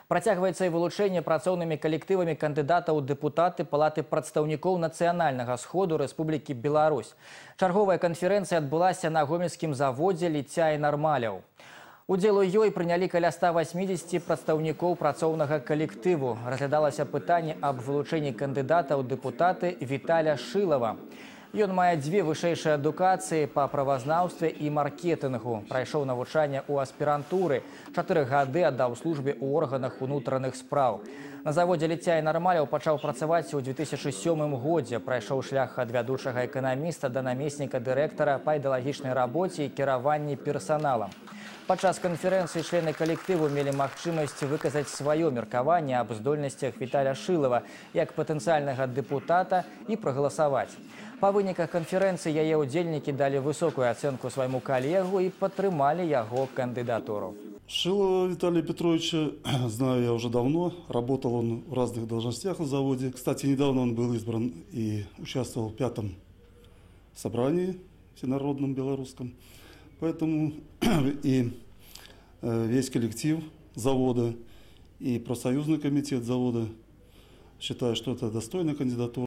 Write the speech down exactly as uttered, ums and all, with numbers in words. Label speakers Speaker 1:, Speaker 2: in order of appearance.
Speaker 1: Працягваецца і вылучэнне працоўнымі калектывамі кандыдата ў дэпутаты Палаты прадстаўнікоў нацыянальнага сходу Рэспублікі Беларусь. Чарговая канферэнцыя адбылася на гомельскім заводзе «Ліцця і нармаляў». Удзел у ёй прынялі каля ста васьмідзесяці прадстаўнікоў працоўнага калектыву. Разглядалася пытанне аб вылучэнні кандыдата ў дэпутаты Віталя Шылава. Ён мае дзве вышэйшыя адукацыі па правазнаўстве і маркетынгу. Прайшоў навучанне ў аспірантуры. Чатыры гады аддаў службе ў органах унутраных спраў. На заводзе «Ліцця і нармаляў» пачаў працаваць у две тысячы сёмым годзе. Прайшоў шлях ад вядучага эканаміста да намесніка дырэктара па ідэалагічнай рабоце і кіраванні персаналам. Падчас канферэнцыі члены калектыву мелі магчымасць выказаць сваё меркаванне аб здольнасцях Віталя Шылава як патэнцыяльнага дэпутата і прагаласаваць. Па выніках канферэнцыі яе ўдзельнікі далі высокую ацэнку свайму калегу і падтрымалі яго кандыдатуру.
Speaker 2: Шилова Виталия Петровича знаю я уже давно. Работал он в разных должностях на заводе. Кстати, недавно он был избран и участвовал в пятом собрании всенародном белорусском. Поэтому и весь коллектив завода, и профсоюзный комитет завода считают, что это достойная кандидатура.